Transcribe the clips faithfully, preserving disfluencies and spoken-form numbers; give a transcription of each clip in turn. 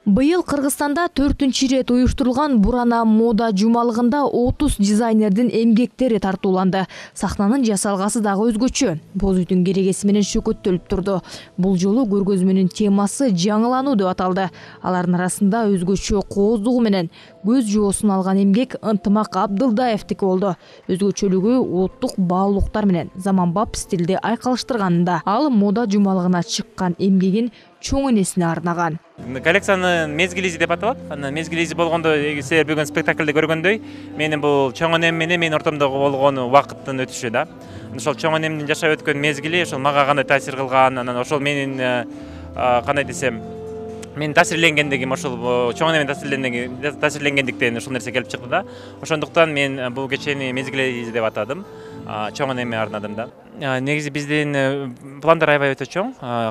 Быйыл Кыргызстанда төртүнчү ирет уюштурулган Бурана мода жумалыгында отуз дизайнердин эмгектери тартууланды. Сахнанын жасалгасы дагы өзгөчө. Боз үйдүн керегеси менен шөкөттөлүп турду. Бул жолу көргөзмөнүн темасы жаңылануу деп аталды. Алардын арасында өзгөчө кооздугу менен көз жоосун алган эмгек Ынтымак Абдылдаевдики болду. Өзгөчөлүгү оттук баалуулуктар менен заманбап стилди айкалыштырганында. Ал мода жумалыгына чыккан эмгегин чоң энесине арнаган. Коллекциянын мезгил изи деп аталат. Анан мезгил изи болгондо, силер бүгүн спектакльде көргөндөй, менин бул чоң энем менен менин ортомдогу болгон убакыттын өтүшү да. Ошол чоң энемдин жашап өткөн мезгили ошол мага кандай таасир кылган, анан ошол менин кандай десем, менин таасирленгендигим ошол чоң энемен таасирленгендиктен ушул нерсе келип чыкты да. Ошондуктан мен бул кечени мезгил изи деп атадым. Чоң энеме арнадым да. Негизи биздин пландар аябай өтө чоң.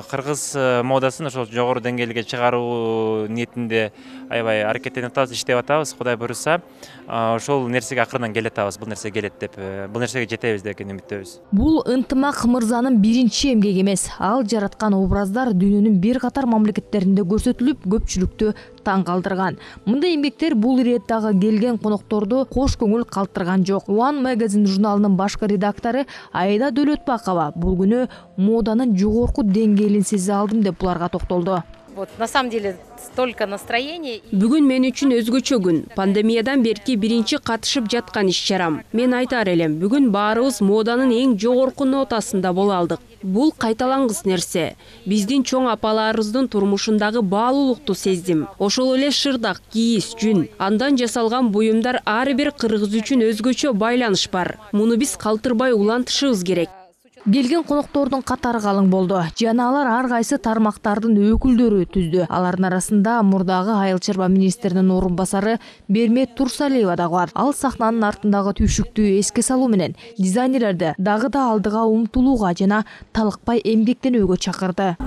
Кыргыз модасын ошол жогору деңгээлге чыгаруу ниетинде аябай аракеттенип атабыз, иштеп атабыз. Кудай буйруса, ошол нерсеге акырынан келе атабыз. Бул нерсе келет деп, бул нерсеге жетебиз деген үмүттөбүз. Бул Ынтымак мырзанын биринчи эмгеги эмес. Ал жараткан образдар дүйнөнүн бир катар мамлекеттеринде көрсөтүлүп, көпчүлүктү таң калтырган. Мындай эмгектер бул ирет дагы келген конокторду кош көңүл калтырган жок. One Magazine журналынын башкы редактору Айда Дөөлөтбакова бул күнү моданын жогорку деңгээлин сезе алдым деп буларга токтолду. Вот на самом деле столько настроения. Бүгүн мен үчүн өзгөчө күн. Пандемиядан берки биринчи катышып жаткан иш-чарам. Мен айтар элем, бүгүн баарыбыз моданын эң жогорку нотасында боло алдык. Бул кайталангыс нерсе. Биздин чоң апаларыбыздын турмушундагы баалуулукту сездим. Ошол эле шырдак, кийиз, жүн, андан жасалган буюмдар ар бир кыргыз үчүн өзгөчө байланыш бар. Муну биз калтырбай улантышыбыз керек. Келген коноктордун катары калың болду. Жана алар ар кайсы тармактардын өкүлдөрү түздү. Алардын арасында мурдагы айыл чарба министринин орун басары Бермет Турсалиева дагы бар. Ал сахнанын артындагы түйшүктү эске салуу менен дизайнерлерди дагы да алдыга умтулууга жана талыкпай эмгектенүүгө чакырды.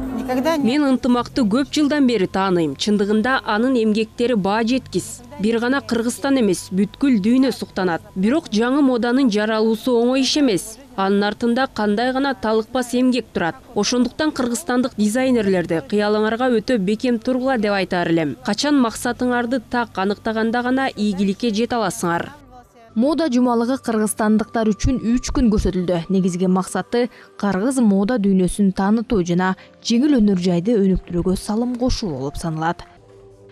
Мен Ынтымакты көп жылдан бери тааныйм. Чындыгында анын эмгектери баа жеткис. Бир гана Кыргызстан эмес, бүткүл дүйнө суктанат. Бирок жаңы моданын жаралуусу оңой иш эмес. Анын артында кандай гана талыкпас эмгек турат. Ошондуктан кыргызстандык дизайнерлерди кыялыңарга өтө бекем тургула деп айтар элем. Качан максатыңарды так аныктаганда гана ийгиликке жете аласыңар. Мода жумалыгы кыргызстандыктар үчүн үч күн көрсөтүлдү. Негизги максаты кыргыз мода дүйнөсүн таанытуу жана жеңил өнөр жайды өнүктүрүүгө салым кошуу болуп саналат.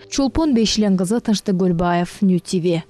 Чолпон Бейшилен кызы, Тынчтык Көлбаев, Нью ти ви.